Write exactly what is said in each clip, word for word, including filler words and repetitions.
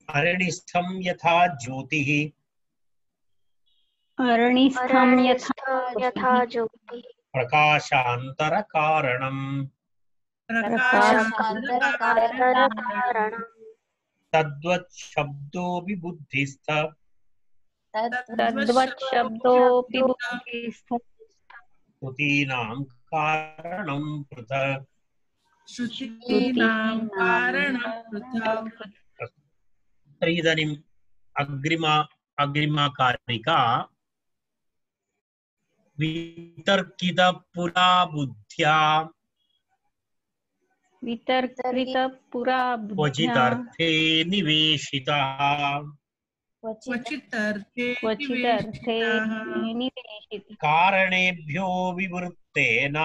अरणिस्थं यथा ज्योतिः अरणिस्थं यथा ज्योतिः प्रकाशान्तरकारणम् प्रकाशान्तरकारणम् तद्वत् शब्दो विबुद्धिस्थ तद्वत् शब्दोऽपि बुद्धिस्थ श्रुतीनां कारणं पृथक् श्रुतीनां कारणं पृथक्। तर्हि इदानीम् अग्रिमा अग्रिमा कारिका वितर्कितपुरा बुद्ध्या वितर्कितपुरा बुद्ध्या क्वचिदर्थे निवेशितः क्वचिदर्थे क्वचिदर्थे निवेशितः कारणेभ्यो विवृत्तेन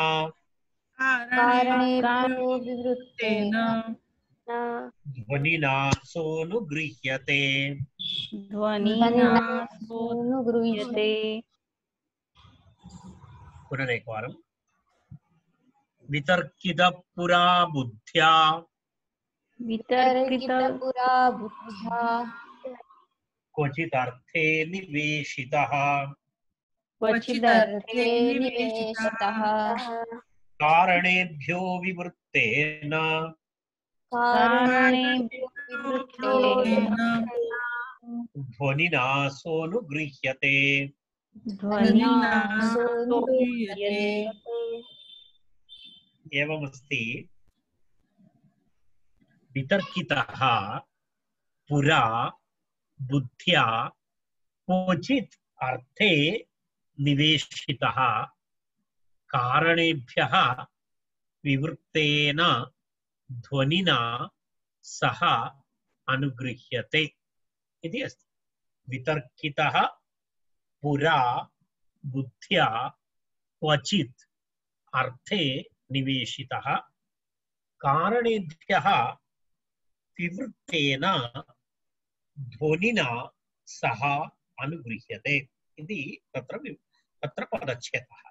कारणेभ्यो विवृत्तेन ध्वनिना सोऽनुगृह्यते ध्वनिना सोऽनुगृह्यते। पुनरेकवारम् वितर्कितपुरा बुद्ध्या वितर्कितपुरा बुद्ध्या क्वचिदर्थे निवेशितः क्वचिदर्थे निवेशितः कारणेभ्यो विवृत्तेन कारणेभ्यो विवृत्तेन ध्वनिना सोऽनुगृह्यते ध्वनिना सोऽनुगृह्यते। एवमस्ति वितर्कितः पुरा बुद्ध्या क्वचित् अर्थे निवेशितः कारणेभ्यः विवृत्तेन ध्वनिना सह अनुगृह्यते इति अस्ति। वितर्कितः पुरा बुद्ध्या क्वचित् अर्थे निवेशितः कारणेभ्यः विवृत्तेन ध्वनिना सह अनुगृह्यते इति तत्र तत्र पदच्छेदः।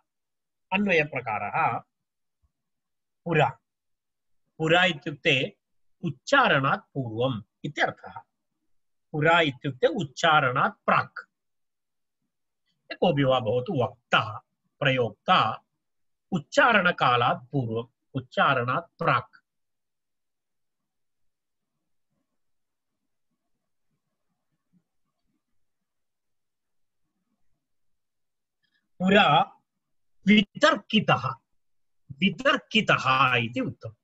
अन्वयप्रकारः पुरा पुरा इत्युक्ते उच्चारणात् पूर्वम् इत्यर्थः। पुरा इत्युक्ते उच्चारणात् प्राक्। कोऽपि वा भवतु वक्ता प्रयोक्ता उच्चारणकालात् पूर्वम् उच्चारणात् प्राक्। पुरा वितर्कितः वितर्कितः इति उक्तम्।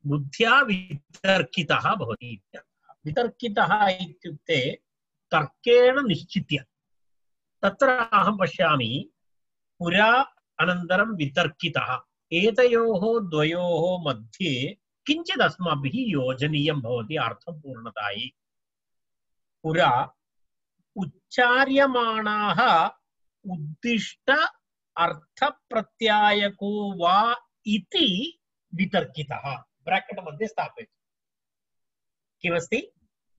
बुद्ध्या वितर्कितः भवति इत्यर्थः। वितर्कितः इत्युक्ते तर्केण निश्चित्य। तत्र अहं पश्यामि पुरा अनन्तरं वितर्कितः एतयोः द्वयोः मध्ये किञ्चित् अस्माभिः योजनीयं भवति अर्थपूर्णतायै। पुरा उच्चार्यमाणाः उद्दिष्ट अर्थप्रत्यायको वा इति वितर्कितः ब्रैकेट् मध्ये स्थापयतु। किमस्ति?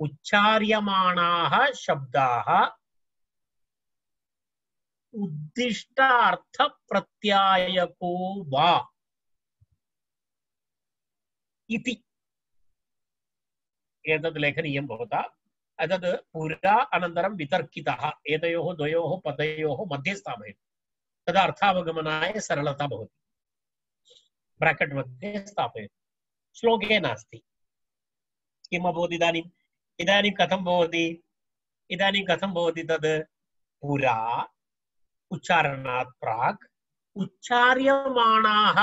उच्चार्यमाणाः शब्दाः उद्दिष्ट अर्थप्रत्यायको वा इति एतद् लेखनीयं भवता। एतद् पुरा अनन्तरं वितर्कितः एतयोः द्वयोः पदयोः मध्ये स्थापयतु। तदा अर्थावगमनाय सरलता भवति। ब्रैकेट् मध्ये स्थापयतु। श्लोके नास्ति। किम् अभवत् इदानीम्? इदानीं कथं भवति? इदानीं कथं भवति तद्? पुरा उच्चारणात् प्राक् उच्चार्यमाणाः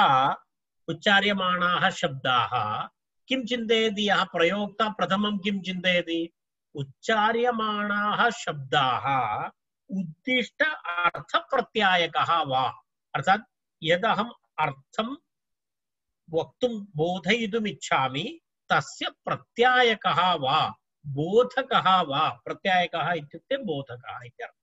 उच्चार्यमाणाः शब्दाः किं चिन्तयति? यः प्रयोक्ता प्रथमं किं चिन्तयति? उच्चार्यमाणाः शब्दाः उद्दिष्ट अर्थप्रत्यायकः वा, अर्थात् यदहम् अर्थं वक्तुं बोधयितुम् इच्छामि तस्य प्रत्यायकः वा बोधकः वा। प्रत्यायकः इत्युक्ते बोधकः इत्यर्थः।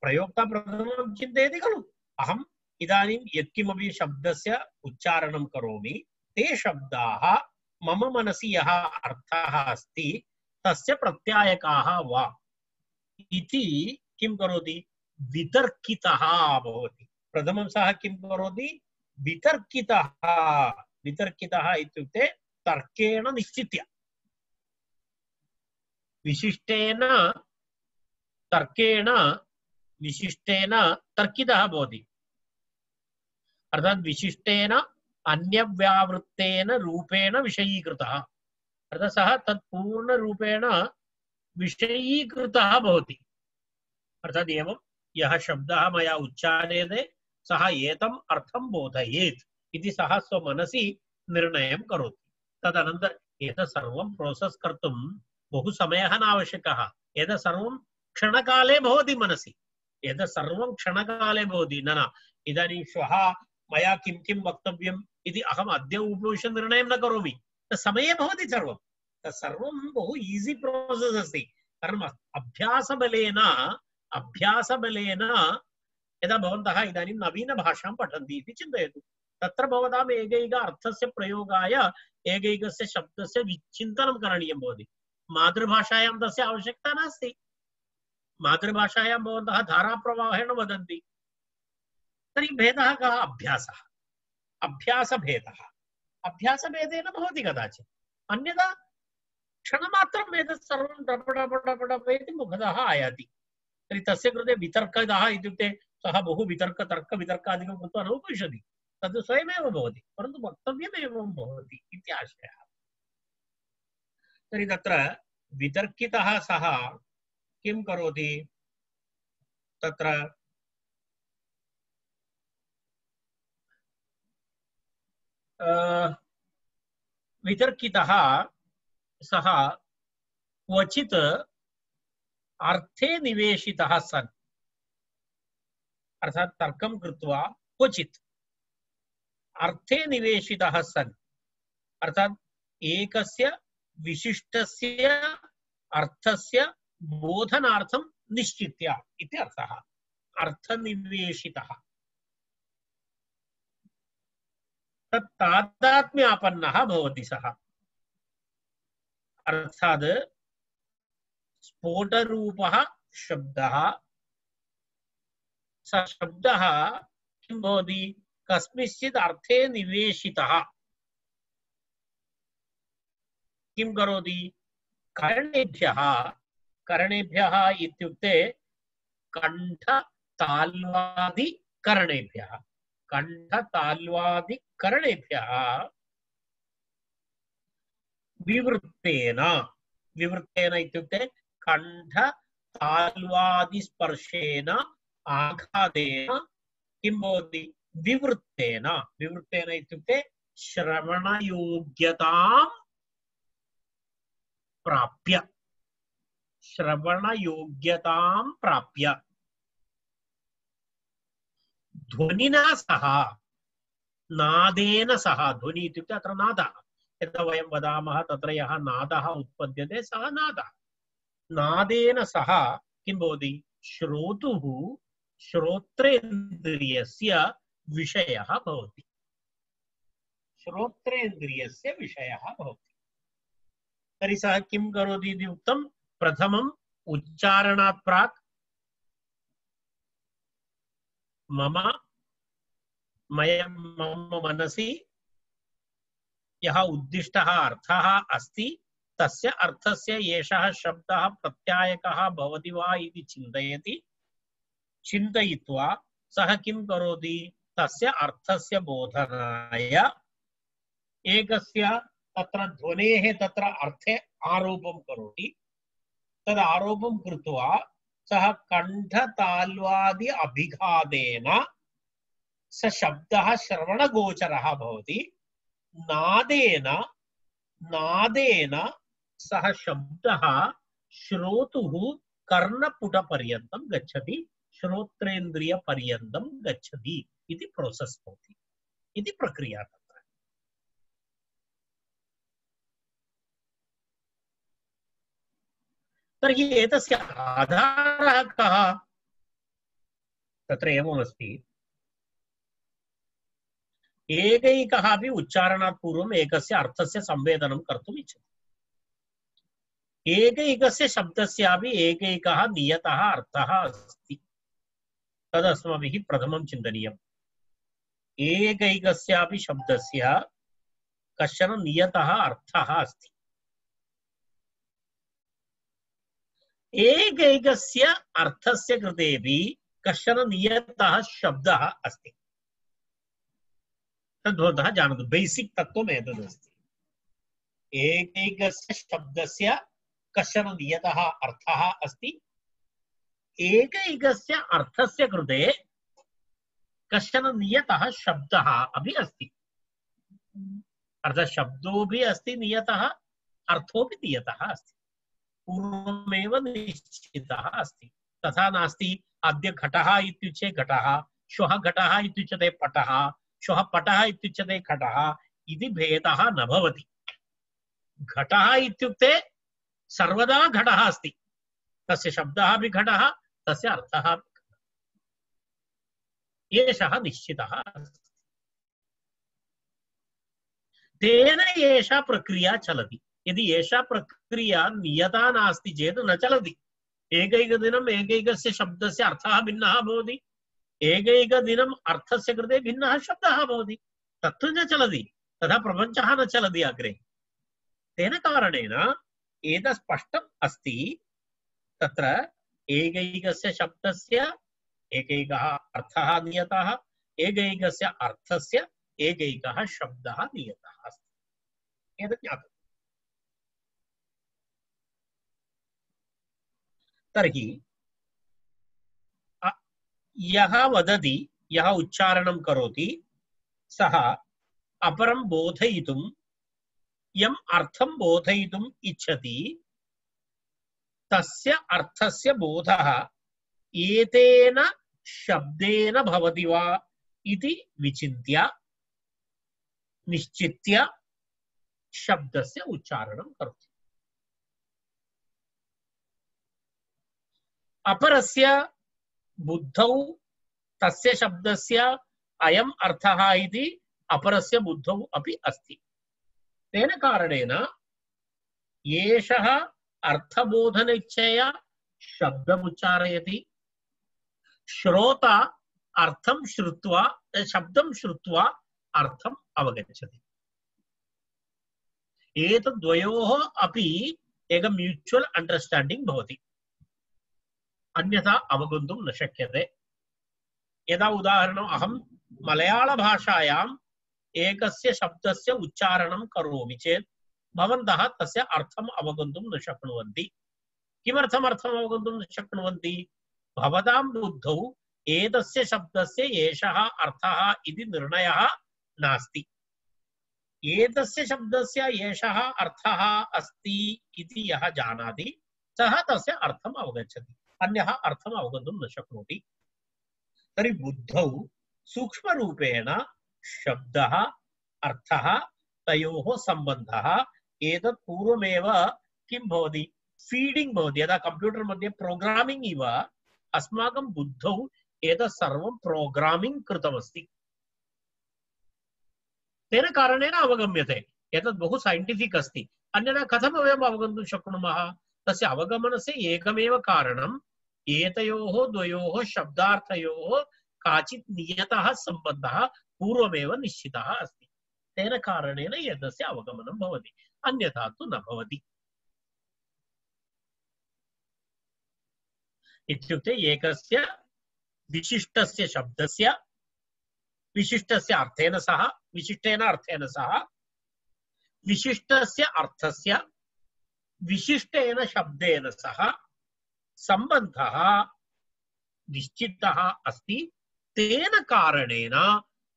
प्रयोक्ता प्रथमं चिन्तयति खलु, अहम् इदानीं यत्किमपि शब्दस्य उच्चारणं करोमि ते शब्दाः मम मनसि यः अर्थः अस्ति तस्य प्रत्यायकाः वा इति किं करोति? वितर्कितः भवति। प्रथमं सः किं करोति? वितर्कितः। वितर्कितः इत्युक्ते तर्केण निश्चित्य। विशिष्टेन तर्केण विशिष्टेन तर्कितः भवति अर्थात् विशिष्टेन अन्यव्यावृत्तेन रूपेण विषयीकृतः अर्थात् सः तत् पूर्णरूपेण विषयीकृतः भवति अर्थात् एवं यः शब्दः मया उच्चार्यते सः एतम् अर्थं बोधयेत् इति सः स्वमनसि निर्णयं करोति तदनन्तरम् एतत् सर्वं प्रोसेस् कर्तुं बहु समयः न आवश्यकः एतत् सर्वं क्षणकाले भवति मनसि एतत् सर्वं क्षणकाले भवति न न इदानीं श्वः मया किं किं वक्तव्यम् इति अहम् अद्य उपविश्य निर्णयं न करोमि तत् समये भवति सर्वं तत् सर्वं बहु ईज़ी प्रोसेस् अस्ति कारणम् अभ्यासबलेन अभ्यासबलेन यदा भवन्तः इदानीं नवीनभाषां पठन्ति इति चिन्तयतु तत्र भवताम् एकैक अर्थस्य प्रयोगाय एकैकस्य शब्दस्य विचिन्तनं करणीयं भवति मातृभाषायां तस्य आवश्यकता नास्ति मातृभाषायां भवन्तः धाराप्रवाहेण वदन्ति तर्हि भेदः कः अभ्यासः अभ्यासभेदः अभ्यासभेदेन भवति कदाचित् अन्यथा क्षणमात्रम् एतत् सर्वं डपडपडपडप इति मुखतः आयाति तर्हि तस्य कृते वितर्कः इत्युक्ते सः बहु वितर्क तर्क वितर्कादिकं कृत्वा न उपविशति तद् स्वयमेव भवति परन्तु वक्तव्यमेव भवति इति आशयः तर्हि तत्र वितर्कितः सः किं करोति तत्र वितर्कितः सः क्वचित् अर्थे निवेशितः सन् अर्थात् तर्कं कृत्वा क्वचित् अर्थे निवेशितः सन् अर्थात् एकस्य विशिष्टस्य अर्थस्य बोधनार्थं निश्चित्य इति अर्थः अर्थनिवेशितः तत् तादात्म्यापन्नः भवति सः अर्थात् स्फोटरूपः शब्दः स शब्दः किं भवति कस्मिंश्चित् अर्थे निवेशितः किं करोति करणेभ्यः करणेभ्यः इत्युक्ते कण्ठताल्वादि करणेभ्यः कण्ठताल्वादि करणेभ्यः विवृत्तेन विवृत्तेन इत्युक्ते कण्ठताल्वादि स्पर्शेन आघातेन किं भवति विवृत्तेन विवृत्तेन इत्युक्ते श्रवणयोग्यतां प्राप्य श्रवणयोग्यतां प्राप्य ध्वनिना सह नादेन सह ध्वनि इत्युक्ते अत्र नादः यदा वयं वदामः तत्र यः नादः उत्पद्यते सः नादः नादेन सह किं भवति श्रोतुः श्रोत्रेन्द्रियस्य विषयः भवति श्रोत्रेन्द्रियस्य विषयः भवति तर्हि सः किं करोति इति उक्तं प्रथमम् उच्चारणात् प्राक् मम मया मम मनसि यः उद्दिष्टः अर्थः अस्ति तस्य अर्थस्य एषः शब्दः प्रत्यायकः भवति वा इति चिन्तयति चिन्तयित्वा सः किं करोति तस्य अर्थस्य बोधनाय एकस्य तत्र ध्वनेः तत्र अर्थे आरोपं करोति तद् आरोपं कृत्वा सः कण्ठताल्वादि अभिघातेन स शब्दः श्रवणगोचरः भवति नादेन नादेन सः शब्दः श्रोतुः कर्णपुटपर्यन्तं गच्छति श्रोत्रेन्द्रियपर्यन्तं गच्छति इति प्रोसेस् भवति इति प्रक्रिया तत्र तर्हि एतस्य आधारः कः तत्र एवमस्ति एकैकः अपि उच्चारणात् पूर्वम् एकस्य अर्थस्य संवेदनं कर्तुम् इच्छति एकैकस्य शब्दस्यापि एकैकः नियतः अर्थः अस्ति तदस्माभिः प्रथमं चिन्तनीयम् एकैकस्यापि शब्दस्य कश्चन नियतः अर्थः अस्ति एकैकस्य अर्थस्य कृतेपि कश्चन नियतः शब्दः अस्ति। तद्भवन्तः जानन्तु, बेसिक् तत्त्वम् एतदस्ति। एकैकस्य शब्दस्य कश्चन नियतः अर्थः अस्ति, एकैकस्य अर्थस्य कृते कश्चन नियतः शब्दः अपि अस्ति। अर्थात् शब्दोऽपि अस्ति नियतः, अर्थोऽपि नियतः अस्ति, पूर्वमेव निश्चितः अस्ति। तथा नास्ति अद्य घटः इत्युच्यते घटः, श्वः घटः इत्युच्यते पटः, श्वः पटः इत्युच्यते घटः इति भेदः न भवति। घटः इत्युक्ते सर्वदा घटः अस्ति, तस्य शब्दः अपि घटः, तस्य अर्थः अपि घटः। एषः निश्चितः अस्ति। तेन एषा प्रक्रिया चलति। यदि एषा प्रक्रिया नियता नास्ति चेत् न चलति। एकैकदिनम् एकैकस्य शब्दस्य अर्थः भिन्नः भवति, एकैकदिनम् अर्थस्य कृते भिन्नः शब्दः भवति, तत्तु न चलति। तथा प्रपञ्चः न चलति अग्रे। तेन कारणेन एतत् स्पष्टम् अस्ति, तत्र एकैकस्य शब्दस्य एकैकः अर्थः नियतः, एकैकस्य अर्थस्य एकैकः शब्दः नियतः अस्ति। एतत् ज्ञातव्यम्। तर्हि यः वदति, यः उच्चारणं करोति, सः अपरं बोधयितुं यम् अर्थं बोधयितुम् इच्छति, तस्य अर्थस्य बोधः एतेन शब्देन भवति वा इति विचिन्त्य निश्चित्य शब्दस्य उच्चारणं करोति। अपरस्य बुद्धौ तस्य शब्दस्य अयम् अर्थः इति अपरस्य बुद्धौ अपि अस्ति। तेन कारणेन एषः अर्थबोधनिच्छया शब्दम् उच्चारयति, श्रोता अर्थं श्रुत्वा शब्दं श्रुत्वा अर्थम् अवगच्छति। एतद्वयोः अपि एक म्यूचुअल अंडरस्टैंडिंग भवति, अन्यथा अवगन्तुं न शक्यते। यदा उदाहरणम् अहं मलयाळ भाषायाम् एकस्य शब्दस्य उच्चारणं करोमि चेत् भवन्तः तस्य अर्थम् अवगन्तुं न शक्नुवन्ति। किमर्थम् अर्थम् अवगन्तुं न शक्नुवन्ति? भवतां बुद्धौ एतस्य शब्दस्य एषः अर्थः इति निर्णयः नास्ति। एतस्य शब्दस्य एषः अर्थः अस्ति इति यः जानाति सः तस्य अर्थम् अवगच्छति, अन्यः अर्थम् अवगन्तुं न शक्नोति। तर्हि बुद्धौ सूक्ष्मरूपेण शब्दः अर्थः तयोः सम्बन्धः एतत् पूर्वमेव किं भवति, फीडिंग भवति। यदा कंप्यूटर मध्ये प्रोग्रामिंग इव अस्माकं बुद्धौ एतत् सर्वं प्रोग्रामिंग कृतमस्ति। तेन कारणेन अवगम्यते। एतत् बहु साइंटिफिक अस्ति, अन्यथा कथं वयम् अवगन्तुं शक्नुमः? तस्य अवगमनस्य एकमेव कारणम्, एतयोः द्वयोः शब्दार्थयोः काचित् नियतः सम्बन्धः पूर्वमेव निश्चितः अस्ति। तेन कारणेन एतस्य अवगमनं भवति, अन्यथा तु न भवति। इत्युक्ते एकस्य विशिष्टस्य शब्दस्य विशिष्टस्य अर्थेन सह विशिष्टेन अर्थेन सह विशिष्टस्य अर्थस्य विशिष्टेन शब्देन सह सम्बन्धः निश्चितः अस्ति। तेन कारणेन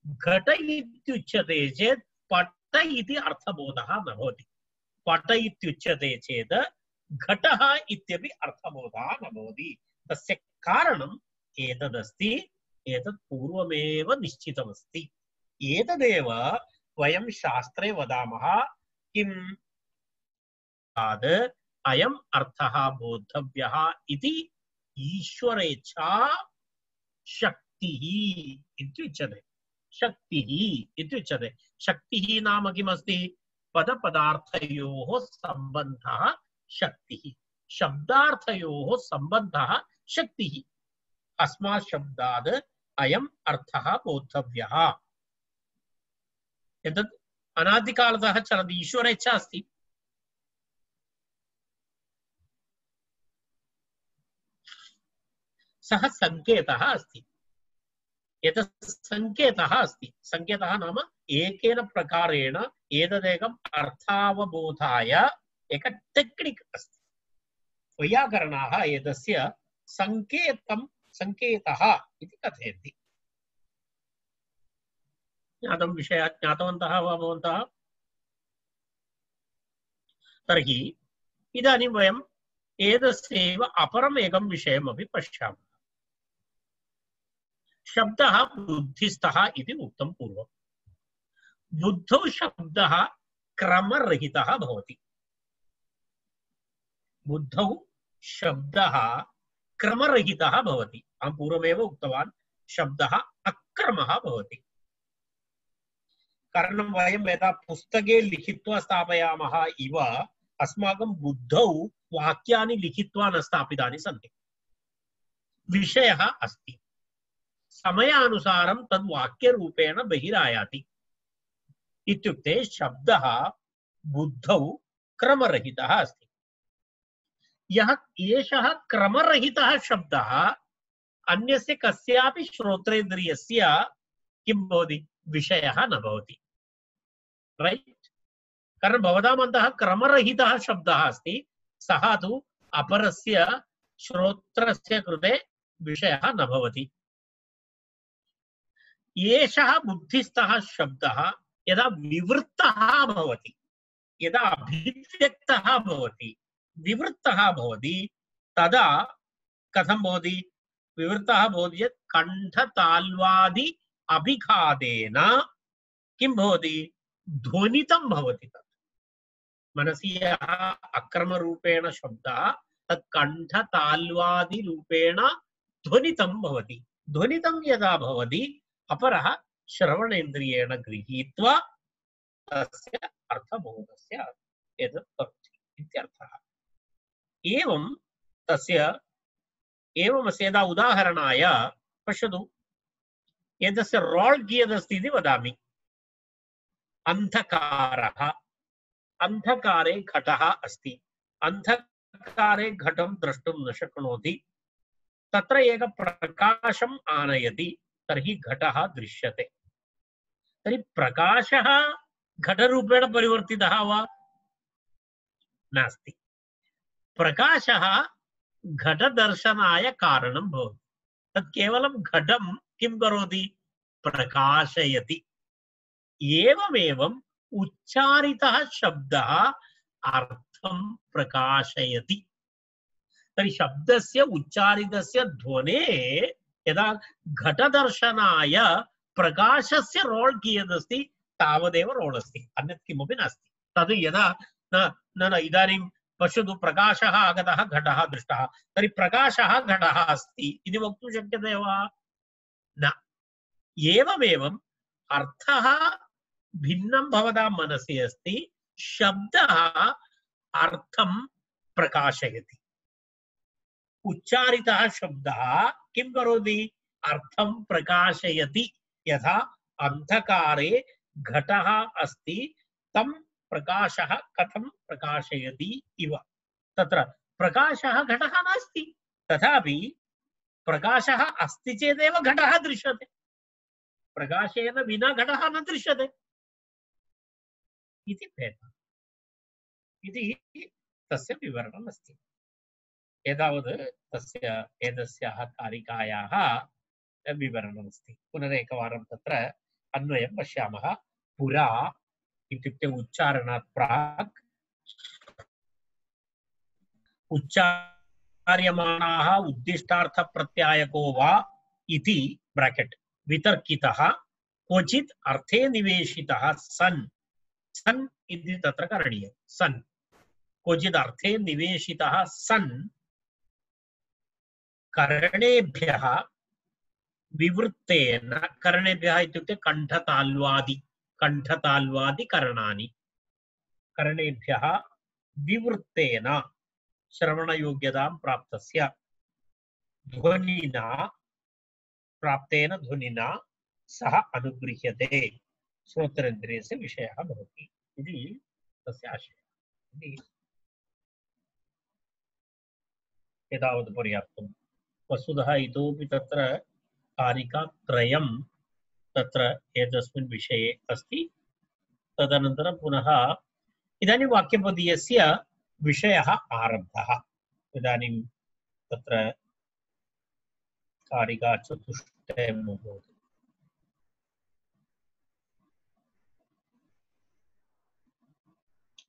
घट इत्युच्यते चेत् पट इति अर्थबोधः न भवति। पट इत्युच्यते चेत् घटः इत्यपि अर्थबोधः न भवति। तस्य कारणम् एतदस्ति, एतत् पूर्वमेव निश्चितमस्ति। एतदेव वयं शास्त्रे वदामः किम्, अयम् अर्थः बोद्धव्यः इति ईश्वरेच्छा शक्तिः इत्युच्यते। शक्तिः इत्युच्यते। शक्तिः नाम किमस्ति? पदपदार्थयोः सम्बन्धः शक्तिः, शब्दार्थयोः सम्बन्धः शक्तिः। अस्मात् शब्दात् अयम् अर्थः बोद्धव्यः। एतत् अनादिकालतः चलति, ईश्वरेच्छा अस्ति। सः सङ्केतः अस्ति। एतत् सङ्केतः अस्ति। सङ्केतः नाम एकेन प्रकारेण एतदेकम् अर्थावबोधाय एक टेक्निक् अस्ति। वैयाकरणाः एतस्य सङ्केतं सङ्केतः इति कथयन्ति। ज्ञातं विषयः ज्ञातवन्तः वा भवन्तः? तर्हि इदानीं वयम् एतस्यैव अपरम् एकं विषयमपि पश्यामः। शब्दः बुद्धिस्थः इति उक्तं पूर्वं। बुद्धौ शब्दः क्रमरहितः भवति। बुद्धौ शब्दः क्रमरहितः भवति। अहं पूर्वमेव उक्तवान् शब्दः अक्रमः भवति। कारणं वयं यदा पुस्तके लिखित्वा स्थापयामः इव अस्माकं बुद्धौ वाक्यानि लिखित्वा न स्थापितानि सन्ति। विषयः अस्ति, समयानुसारं तद् वाक्यरूपेण बहिरायाति। इत्युक्ते शब्दः बुद्धौ क्रमरहितः अस्ति। यः एषः क्रमरहितः शब्दः अन्यस्य कस्यापि श्रोत्रेन्द्रियस्य किं भवति? विषयः न भवति। रैट्? कारण भवताम् अन्तः क्रमरहितः शब्दः अस्ति, सः तु अपरस्य श्रोत्रस्य कृते विषयः न भवति। एषः बुद्धिस्थः शब्दः यदा विवृत्तः भवति, यदा अभिव्यक्तः भवति, विवृत्तः भवति, तदा कथं भवति? विवृत्तः भवति चेत् कण्ठताल्वादि अभिघातेन किं भवति? ध्वनितं भवति। तत् मनसि यः अक्रमरूपेण शब्दः तत् कण्ठताल्वादिरूपेण ध्वनितं भवति। ध्वनितं यदा भवति अपरः श्रवणेन्द्रियेण गृहीत्वा तस्य अर्थबोधस्य एतत् करोति इत्यर्थः। एवं तस्य एवमस्य यदा उदाहरणाय पश्यतु, एतस्य रोल् कियदस्ति इति वदामि। अन्धकारः, अन्धकारे घटः अस्ति। अन्धकारे घटं द्रष्टुं न शक्नोति। तत्र एक प्रकाशम् आनयति, तर्हि घटः दृश्यते। तर्हि प्रकाशः घटरूपेण परिवर्तितः वा? नास्ति। प्रकाशः घटदर्शनाय कारणं भवति। तत् केवलं घटं किं करोति? प्रकाशयति। एवमेवम् उच्चारितः शब्दः अर्थं प्रकाशयति। तर्हि शब्दस्य उच्चारितस्य ध्वनेः यदा घटदर्शनाय प्रकाशस्य रोल् कियदस्ति तावदेव रोल् अस्ति, अन्यत् किमपि नास्ति। तद् यदा न न न इदानीं पश्यतु, प्रकाशः आगतः, घटः दृष्टः, तर्हि प्रकाशः घटः अस्ति इति वक्तुं शक्यते वा? न। एवमेवम् अर्थः भिन्नं भवतां मनसि अस्ति, शब्दः अर्थं प्रकाशयति। उच्चारितः शब्दः किं करोति? अर्थं प्रकाशयति। यथा अन्धकारे घटः अस्ति, तं प्रकाशः कथं प्रकाशयति इव। तत्र प्रकाशः घटः नास्ति, तथापि प्रकाशः अस्ति चेदेव घटः दृश्यते। प्रकाशेन विना घटः न दृश्यते इति भेदः। इति तस्य विवरणम् अस्ति। एतावत् तस्य एतस्याः कारिकायाः विवरणमस्ति। पुनरेकवारं तत्र अन्वयं पश्यामः। पुरा इत्युक्ते उच्चारणात् प्राक् उच्चार्यमाणाः उद्दिष्टार्थप्रत्यायको वा इति ब्राकेट् वितर्कितः क्वचित् अर्थे निवेशितः सन् सन् इति तत्र करणीयं। सन् क्वचित् अर्थे निवेशितः सन् करणेभ्यः विवृत्तेन, करणेभ्यः इत्युक्ते कण्ठताल्वादि कण्ठताल्वादि करणानि, करणेभ्यः विवृत्तेन श्रवणयोग्यतां प्राप्तस्य ध्वनिना प्राप्तेन ध्वनिना सः अनुगृह्यते, श्रोत्रेन्द्रियस्य विषयः भवति इति तस्य आशयः। एतावत् पर्याप्तम्। वस्तुतः इतोपि तत्र कारिकात्रयं तत्र एतस्मिन् विषये अस्ति। तदनन्तरं पुनः इदानीं वाक्यपदीयस्य विषयः आरब्धः। इदानीं तत्र कारिका चतुष्टयं भवति।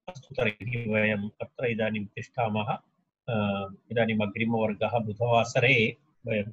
अस्तु, तर्हि वयम् अत्र इदानीं तिष्ठामः। इदानीम् अग्रिमवर्गः बुधवासरे वयं